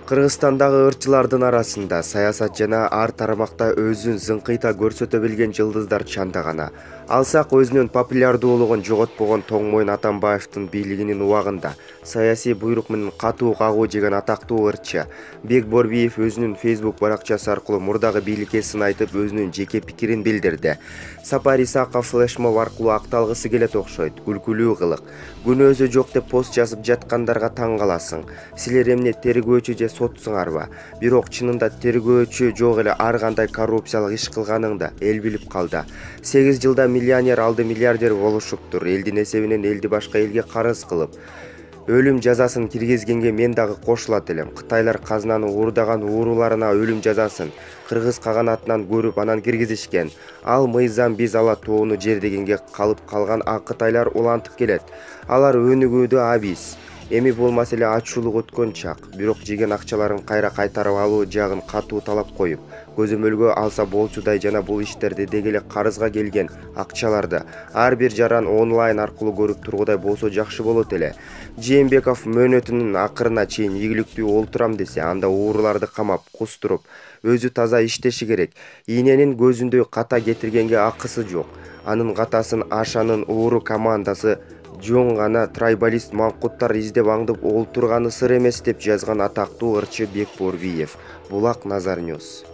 Кыргызстандагы ырчылардын арасында саясат жана ар тармакта өзүн зыңкыйта көрсөтө билген жылдыздар чанда гана. Алсак өзүнүн популярдуулугун жоготпогон Тоңмойун Атамбаевдин бийлигинин убагында саясий буйрук менен катуу кагуу жеген атактуу ырчы Бек Борбиев өзүнүн Facebook баракчасы аркылуу мурдагы бийликесин айтып, өзүнүн жеке пикирин билдирди. Сапар Исаков флешмоб аркылуу акталгысы келет окшойт. Күлкүлүү кылык. Күнөөсү жок деп пост жазып жаткандарга таң каласың. Силер эмне тергөөчү же сотсуңарбы? Бирок чынында тергөөчү жок эле ар кандай коррупциялык иш кылганыңды эл билип калды. 8 жылда миллионер алды миллиардер болушуптур. Элдин эсебинен элди башка элге карыз кылып. Өлүм жазасын киргизгенге мен дагы кошулат элем. Кытайлар казынаны уурдаган ууруларына өлүм жазасын кыргыз каганатынан көрүп анан киргизишкен. Ал мыйзам биз ала тоону жер дегенге калып калган ак кытайлар улантып келет. Алар өнүгүүдө абис. Эми бул маселе ачуулук өткөн чак. Бирок жеген акчаларын кайра кайтарып алуу жагын катуу талап коюп, көзөмөлгө алса болчудай жана бул иштерди деги эле карызга келген акчаларды ар бир жаран онлайн аркылуу көрүп тургудай болсо жакшы болот эле. Жээнбеков мөөнөтүнүн акырына чейин ийгиликтүү олтурам десе, анда ууруларды камап, кустуруп, өзү таза иштеши керек. Ийненин көзүндөй ката кетиргенге акысы жок. Анын катасын Ашанын ууру командасы жөн гана трайбалист маңкуттар издеп аңдып олтурганы сыр эмес деп жазган атактуу ырчы Бек Борбиев. Булак Назар Ньюс.